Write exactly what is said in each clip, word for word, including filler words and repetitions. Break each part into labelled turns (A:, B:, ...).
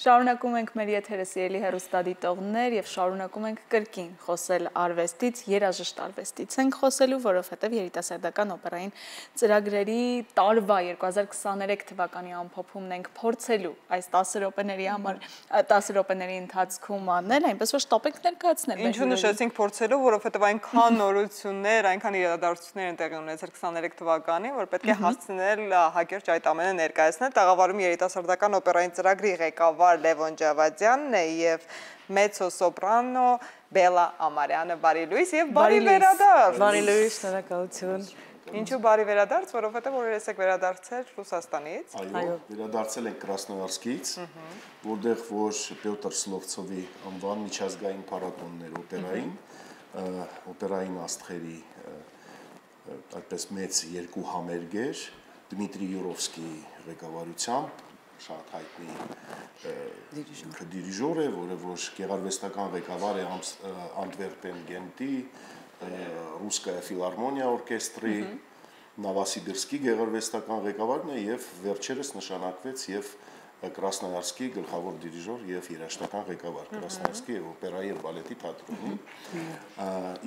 A: Շարունակում ենք մեր եթերը սիրելի հեռուստադիտողներ եւ շարունակում ենք կրկին խոսել արվեստից, երաժիշտ արվեստից ենք խոսելու, որովհետեւ երիտասարդական օպերային ծրագրերի տարվա երկու հազար քսաներեք թվականի ամփոփումն ենք փորձելու այս տասը րոպեների համար տասը րոպեների ընթացքում անել, այնպես որ շտապ ենք ներկայացնել։
B: Ինչու նշեցինք փորձելու, որովհետեւ այնքան նորություններ, այնքան իրադարձություններ են տեղի ունեցել քսաներեք թվականին, որ պետք է հասցնել հակերճ այդ ամենը ներկայացնել։ Տաղավարում երիտասարդական օպերային ծրագրի ղեկավար Լևոն Ջավադյանն է եւ մեծո-սոպրանո Բելա Ամարյանը, բարի լույս եւ բարի վերադարձ։
C: Բարի լույս, շնորհակալություն։
B: Ինչու բարի վերադարձ, որովհետեւ օրերս եք վերադարձել Ռուսաստանից։
D: Այո, վերադարձել ենք Կրասնոյարսկից, որտեղ որ Պյոտր Սլովցովի անվան միջազգային փառատոններ օպերային, օպերային աստղերի այդպես մեծ երկու համերգ էր Դմիտրի Յուրովսկիի ղեկավարությամբ, շատ հայտնի դիրիժոր է, որը որ գեղարվեստական ղեկավար է Անտվերպեն Գենտի, Ռուսկայա ֆիլարմոնիա օրկեստրի, Նավասիբիրսկի գեղարվեստական ղեկավարն է եւ վերջերս նշանակվեց եւ Կրասնոյարսկի գլխավոր դիրիժոր եւ երաժշտական ղեկավար Կրասնոյարսկի եւ օպերայի եւ բալետի թատրոնի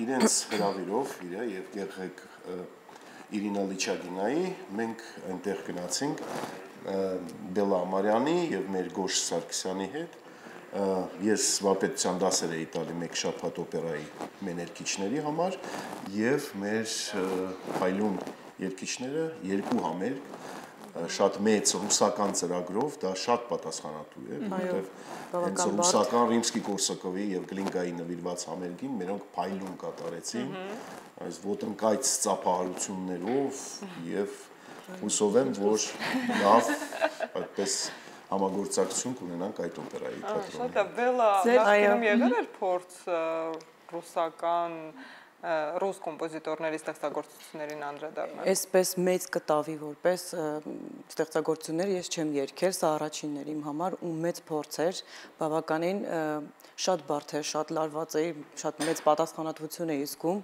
D: իրենց հրավիրով իր եւ գեղեկ Իրինա Լիչագինայի մենք այնտեղ գնացինք Բելա Ամարյանի եւ մեր Գոշ Սարգսյանի հետ ես վարպետության դասեր էի տալի մեկ շաբաթ օպերայի մեր երգիչների համար եւ մեր հայլուն երգիչները երկու համերգ շատ մեծ ռուսական ծրագրով դա շատ պատասխանատու է որովհետեւ հենց ռուսական Ռիմսկի-Կորսակովի եւ Գլինկայի նվիրված համերգին մերոնք փայլուն կատարեցին այս ոտնկայց ծափահարություններով եւ հուսով եմ որ լավ այդպես համագործակցություն կունենանք այդ օպերայի թատրոնի
B: Շատ լավ, Բելա, նախկինում եղել էր փորձ ռուսական ռուս կոմպոզիտորների ստեղծագործություններին անդրադառնալ։
C: Այսպես մեծ կտավի որպես ստեղծագործություններ ես չեմ երգել, սա առաջինն էր իմ համար ու մեծ փորձ էր, բավականին շատ բարդ էր, շատ լարված էի, շատ մեծ պատասխանատվություն էի զգում,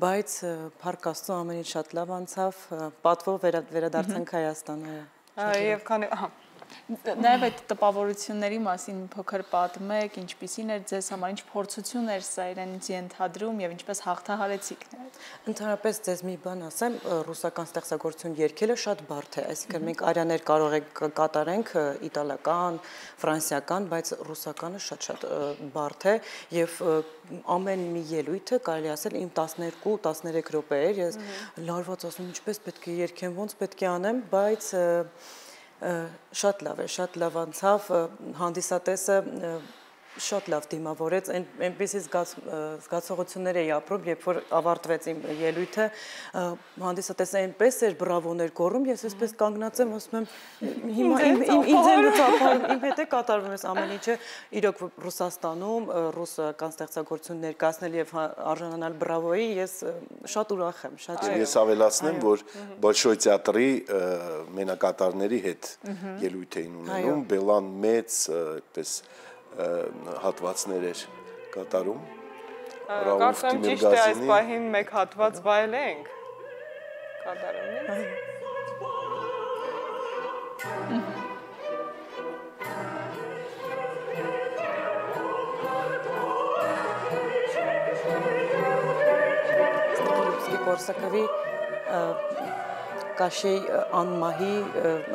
C: բայց փառք Աստծո ամեն ինչ շատ լավ անցավ, պատվով վերադարձանք Հայաստան։
B: Եվ քանի
A: Նաև այդ տպավորությունների մասին փոքր պատմեք, ինչպիսին էր ձեզ համար, ինչ փորձություն էր սա իրենից ենթադրում եւ ինչպես հաղթահարեցիք նրան։
C: Ընդհանրապես ձեզ մի բան ասեմ, ռուսական ստեղծագործություն երգելը շատ բարդ է, այսինքն մենք արյաներ կարող ենք կատարենք իտալական, ֆրանսիական, բայց ռուսականը շատ-շատ բարդ է եւ ամեն մի ելույթը կարելի ասել իմ տասներկու տասներեք րոպե էր, ես լարված ասում ինչպես պետք է երգեմ, ոնց պետք է անեմ, բայց շատ լավ է, շատ լավ անցավ, հանդիսատեսը շատ լավ դիմավորեց, այնպիսի զգացողություններ էի ապրում, երբ որ ավարտվեց իմ ելույթը, հանդիսատեսը այնպես էր բրավոներ գոռում, ես այսպես կանգնած եմ, ասում եմ հիմա ինձ են ծափարում, իմ հետ է կատարվում ես ամեն ինչը, իրոք Ռուսաստանում ռուսական ստեղծագործություն ներկայացնել եւ արժանանալ բրավոյի, ես շատ ուրախ եմ, շատ
D: Ես ավելացնեմ, որ Բոլշոյ թատրի մենակատարների հետ ելույթ էին ունենում, Բելան մեծ այդպես հատվածներ էր կատարում
B: Կարծեմ ճիշտ է այս պահին մեկ հատված վայելենք կատարում
C: Կորսակովի Կաշեի անմահի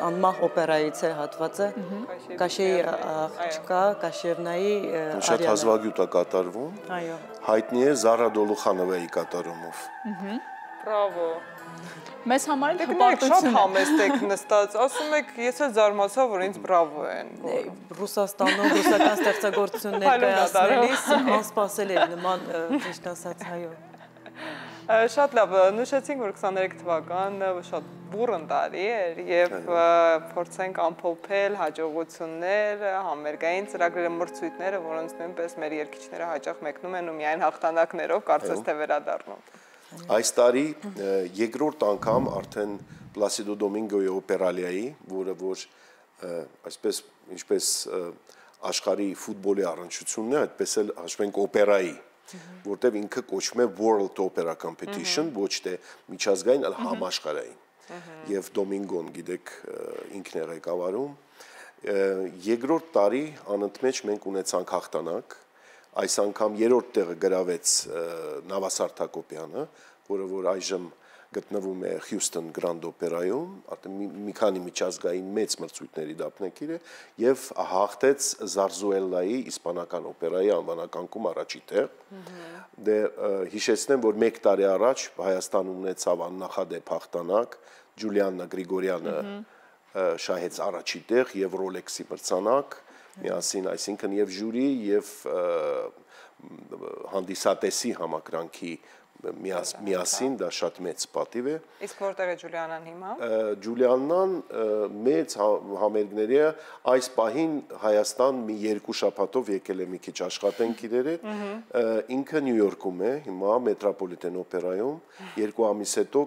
C: անմահ օպերայից է հատվածը Կաշեի աղջկա Կաշևնայի
D: Շատ հազվագյուտ է կատարվում հայտնի է Զարա Դոլուխանովայի կատարումով
B: Բրավո
A: Մեզ համար
B: հպարտություն շատ համեստ եք նստած ասում եք ես էլ զարմացա որ ինձ բրավո են
C: Ռուսաստանում ռուսական ստեղծագործություն ներկայացնելիս անսպասելի էր նման ճիշտ ասած հայո
B: Շատ լավ, նշեցինք, որ քսաներեք թվականը շատ բուռն տարի էր եւ փորձենք ամփոփել հաջողություններ, համերգային ծրագրերը, մրցույթները, որոնց նույնպես մեր երգիչները հաճախ մեկնում են ու միայն հաղթանակներով կարծես թե վերադառնում։
D: Այս տարի երկրորդ անգամ արդեն Պլասիդո Դոմինգոյի օպերալիայի, որը որ այսպես ինչպես աշխարհի ֆուտբոլի առնչությունն է, այդպես էլ հաշվենք օպերայի որտեղ ինքը կոչվում է World Opera Competition, ոչ թե միջազգային, այլ համաշխարհային։ Եվ Դոմինգոն, գիտեք, ինքն է ղեկավարում, Երկրորդ տարի անընդմեջ մենք ունեցանք հաղթանակ, այս անգամ երրորդ տեղը գրավեց Նավասարդ Հակոբյանը, որը որ այժմ գտնվում է Houston Grand Opera-ում, արդեն մի քանի միջազգային մեծ մրցույթների դափնեկիր է եւ հաղթեց Զարզուելլայի իսպանական օպերայի անվանակարգում առաջի տեղ։ Դե հիշեցնեմ, որ մեկ տարի առաջ Հայաստանում ունեցավ աննախադեպ հաղթանակ, Ջուլիաննա Գրիգորյանը շահեց առաջի տեղ եւ Rolex-ի մրցանակ, միասին, այսինքն եւ ժյուրի եւ հանդիսատեսի համակրանքի միասին, դա շատ մեծ պատիվ է։
B: Իսկ որտեղ է Ջուլիանան հիմա։
D: Ջուլիաննան մեծ համերգների է, այս պահին Հայաստան մի երկու շաբաթով եկել է մի քիչ աշխատենք իրեր հետ, ինքը Նյու Յորքում է, հիմա Մետրոպոլիտեն օպերայում, երկու ամիս հետո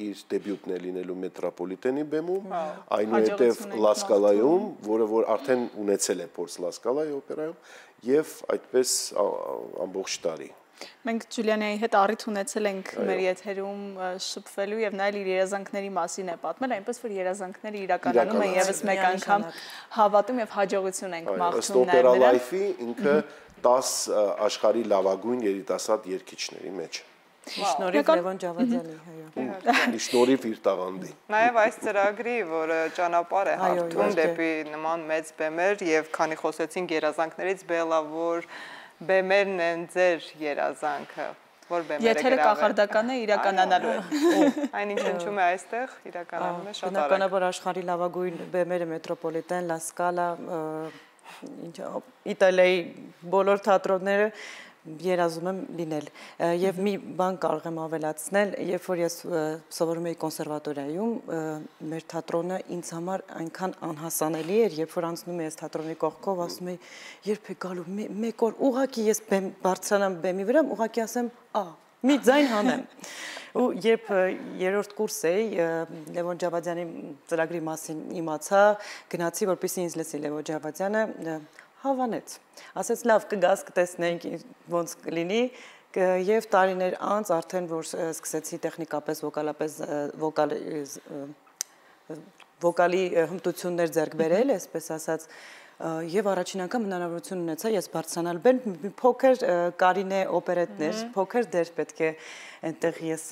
D: իր դեբյուտն է լինելու Մետրոպոլիտենի բեմում, այնուհետև Լա Սկալայում, որը որ արդեն ունեցել է փորձ Լա Սկալայի օպերայում, եւ այդպես ամբողջ տարի։
A: Մենք Ջուլիանայի հետ առիթ ունեցել ենք մեր եթերում շփվելու եւ նայել իր երազանքների մասին է պատմել, այնպես որ երազանքները իրականանում են եւս մեկ անգամ հավատում եւ հաջողություն ենք մաղթում
D: նաեւ Opera Life-ի ինքը դաս աշխարհի լավագույն երիտասարդ երգիչների մեջ։
C: Շնորհիվ Լևոն Ջավադյանի,
D: այո։ Շնորհիվ իր տաղանդի։
B: Նաեւ այս ծրագրի, որը ճանապարհ է հարթում դեպի նման մեծ բեմեր եւ քանի խոսեցինք երազանքներից, բելավոր բեմերն են ձեր երազանքը, որ բեմերը գրավել։
A: Եթերը կախարդական է, իրականանալու է։
B: Այնինչ հնչում է այստեղ, իրականանում է շատ արագ։
C: Բնականաբար աշխարհի լավագույն բեմերը Մետրոպոլիտեն, Լա Սկալա, ինչ Իտալիայի բոլոր թատրոնները երազում եմ լինել եւ մի բան կարող եմ ավելացնել, երբ որ ես սովորում էի կոնսերվատորիայում, մեր թատրոնը ինձ համար այնքան անհասանելի էր, երբ որ անցնում էի այս թատրոնի կողքով, ասում էի, երբ է գալու մեկ օր ուղակի ես բարձրանամ բեմի վրա, ուղակի ասեմ, «Ա, մի ձայն հանեմ»։ Ու երբ երրորդ կուրս էի, Լևոն Ջավադյանի ծրագրի մասին իմացա, գնացի, որպեսզի ինձ լսի Լևոն Ջավադյանը, հավանեց, ասեց լավ կգաս կտեսնենք ոնց կլինի եւ տարիներ անց արդեն որ սկսեցի տեխնիկապես վոկալապես վոկալ վոկալի հմտություններ ձեռք բերել, այսպես ասած, եւ առաջին անգամ հնարավորություն ունեցա ես բարձրանալ բեմ, մի փոքր Կարինե օպերետներ, փոքր դեր պետք է այնտեղ ես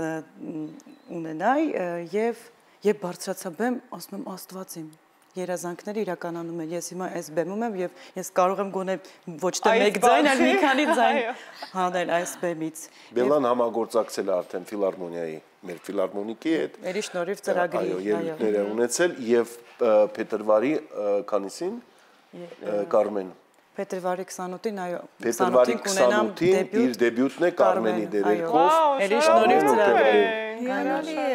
C: ունենայի եւ երբ բարձրացա բեմ, ասում եմ Աստված իմ երազանքները իրականանում են։ Ես հիմա այս բեմում եմ եւ ես կարող եմ գոնե ոչ թե մեկ ձայն, այլ մի քանի ձայն հանել այս բեմից։
D: Բելան համագործակցել է արդեն ֆիլհարմոնիայի, մեր ֆիլհարմոնիկի հետ։
C: Երի շնորհիվ ծրագրի,
D: այո, ելույթներ է ունեցել եւ փետրվարի քանիսին Կարմեն
C: Փետրվարի քսանութին, այո,
D: Փետրվարի քսանութին իր դեբյուտն է Կարմենի դերերքով։
C: Երի շնորհիվ ծրագրի։
A: Հիանալի է,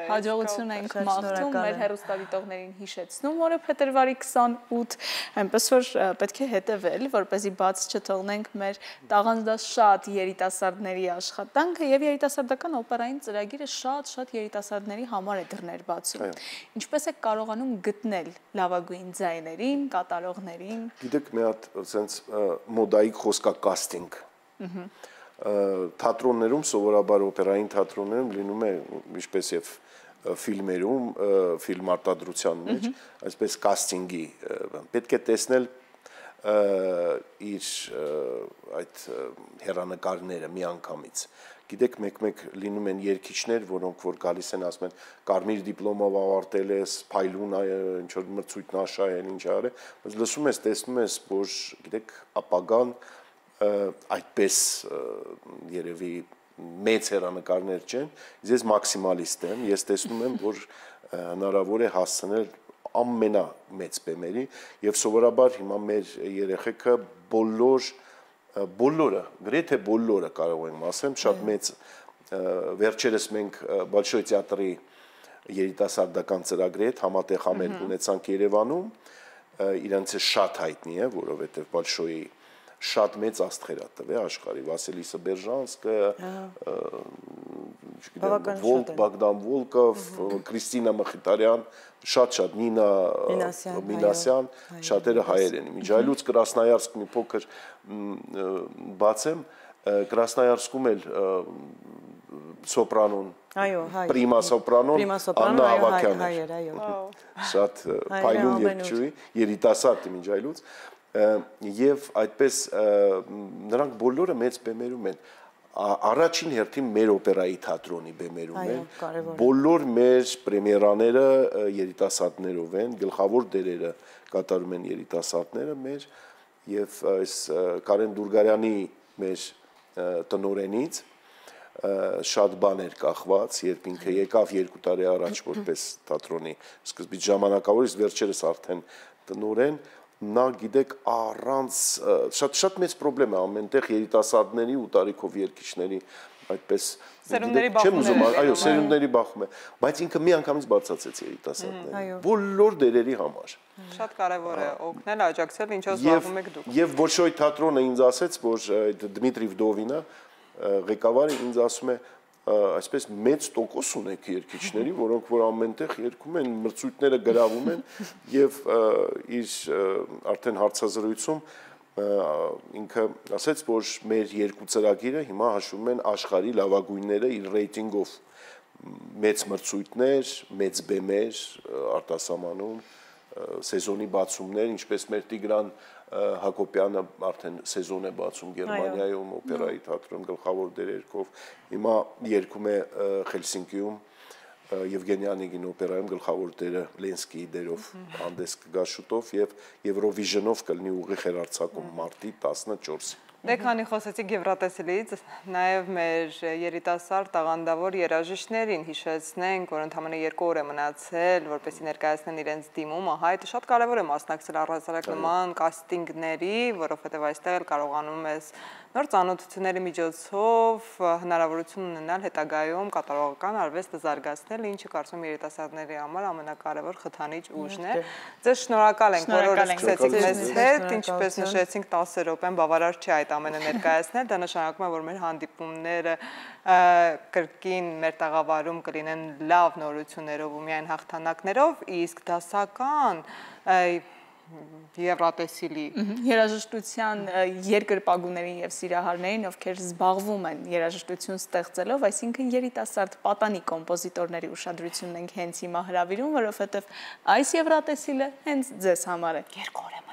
A: հաջողություն ենք մաղթում, մեր հեռուստադիտողներին հիշեցնում, որը փետրվարի քսանութ, այնպես որ պետք է հետևել, որպեսզի բաց չթողնենք մեր տաղանդաշատ երիտասարդների աշխատանքը եւ երիտասարդական օպերային ծրագիրը շատ-շատ երիտասարդների համար է դռներ բացում։ Ինչպես է կարողանում գտնել լավագույն ձայներին, կատարողներին։
D: Գիտեք, մի հատ sense մոդայիկ խոսքա կաստինգ։ Թատրոններում սովորաբար օպերային թատրոններում լինում է ինչպես եւ ֆիլմերում, ֆիլմ արտադրության մեջ, այսպես կաստինգի պետք է տեսնել իր այդ հեռանկարները միանգամից։ Գիտեք, մեկ-մեկ լինում են երգիչներ, որոնք որ գալիս են ասում են կարմիր դիպլոմով ավարտել ես, փայլուն ինչ որ մրցույթ նաշահել, ինչ արել, բայց լսում ես, տեսնում ես, որ գիտեք, ապագան այդպես երևի մեծ հեռանկարներ չեն, ես մաքսիմալիստ եմ, ես տեսնում եմ, որ հնարավոր է հասցնել ամենամեծ բեմերի եւ սովորաբար հիմա մեր երեխեքը բոլոր բոլորը, գրեթե բոլորը կարող ենք ասեմ, շատ մեծ վերջերս մենք Բոլշոյ թատրի երիտասարդական ծրագրի հետ համատեղ համերգ ունեցանք Երևանում, իրանց է շատ հայտնի է, որովհետեւ Բոլշոյի շատ մեծ աստղեր է տվել աշխարհի Վասիլիսը Բերժանսկը, չգիտեմ, Բոգդան Վոլկով, Կրիստինա Մխիթարյան, շատ-շատ Նինա Մինասյան, շատերը հայեր են։ Միջայլուց Կրասնոյարսկ մի փոքր բացեմ, Կրասնոյարսկում էլ սոպրանոն,
C: այո, հայ,
D: պրիմա սոպրանոն, Աննա Ավագյանն
C: հայեր, այո,
D: շատ փայլուն երգչուհի, երիտասարդ մինչ այլուց, եւ այդպես նրանք բոլորը մեծ բեմերում են, առաջին հերթին մեր օպերայի թատրոնի բեմերում են, բոլոր մեր պրեմիերաները երիտասարդներով են, գլխավոր դերերը կատարում են երիտասարդները մեր եւ այս Կարեն Դուրգարյանի մեր տնօրենից շատ բաներ կախված, երբ ինքը եկավ երկու տարի առաջ որպես թատրոնի սկզբից ժամանակավորից վերջերս արդեն տնօրեն, նա գիտեք առանց շատ շատ մեծ խնդրեմ է ամենտեղ երիտասարդների ու տարիքով երգիչների այդպես
B: սերունդների բախում է,
D: այո, սերունդների բախում է, բայց ինքը մի անգամից բարձրացեց երիտասարդներին, բոլոր դերերի համար։
B: Շատ կարևոր է օգնել, աջակցել, ինչով զբաղվում եք դուք։
D: Եվ Բոլշոյ թատրոնը ինձ ասեց, որ Դմիտրի Վդովինը ղեկավարը ինձ ասում է, այսպես մեծ տոկոս ունեք երգիչների, որոնք որ ամենտեղ երգում են, մրցույթները գրավում են եւ իր արդեն հարցազրույցում ինքը ասեց, որ մեր երկու ծրագիրը հիմա հաշվում են աշխարհի լավագույնները իր ռեյտինգով մեծ մրցույթներ, մեծ բեմեր արտասահմանում, սեզոնի բացումներ, ինչպես մեր Տիգրան Հակոբյանը արդեն սեզոն է բացում Գերմանիայում օպերայի թատրոն գլխավոր դերերով, հիմա երգում է Խելսինկիում Եվգենի Օնեգին օպերայում գլխավոր դերը Լենսկիի դերով հանդես կգա շուտով եւ Եվրովիժնով կլինի ուղիղ հեռարձակում մարտի տասնչորսին։
B: Դե քանի խոսեցիք Եվրատեսիլից, նաև մեր երիտասարդ տաղանդավոր երաժիշտներին հիշեցնենք, որ ընդամենը երկու օր է մնացել, որպեսզի ներկայացնեն իրենց դիմումը, հայ, շատ կարևոր է մասնակցել առհասարակ նման կաստինգների, որովհետև այստեղ էլ կարողանում ես նոր ծանոթությունների միջոցով հնարավորություն ունենալ հետագայում կատարողական արվեստը զարգացնել, ինչը կարծում եմ երիտասարդների համար ամենակարևոր խթանիչ ուժն է։ Ձեզ շնորհակալ ենք, որ օրը սկսեցիք մեզ հետ, ինչպես նշեցինք տասը րոպեն բավարար չի այդ ամենը ներկայացնել, դա նշանակում է, որ մեր հանդիպումները կրկին մեր տաղավարում կլինեն լավ նորություններով ու միայն հաղթանակներով, իսկ դասական Եվրատեսիլի
A: երաժշտության երկրպագուներին եւ սիրահարներին, ովքեր զբաղվում են երաժշտություն ստեղծելով, այսինքն երիտասարդ պատանի կոմպոզիտորների ուշադրությունն ենք հենց հիմա հրավիրում, որովհետեւ այս Եվրատեսիլը հենց ձեզ համար է։
B: Երկու օր է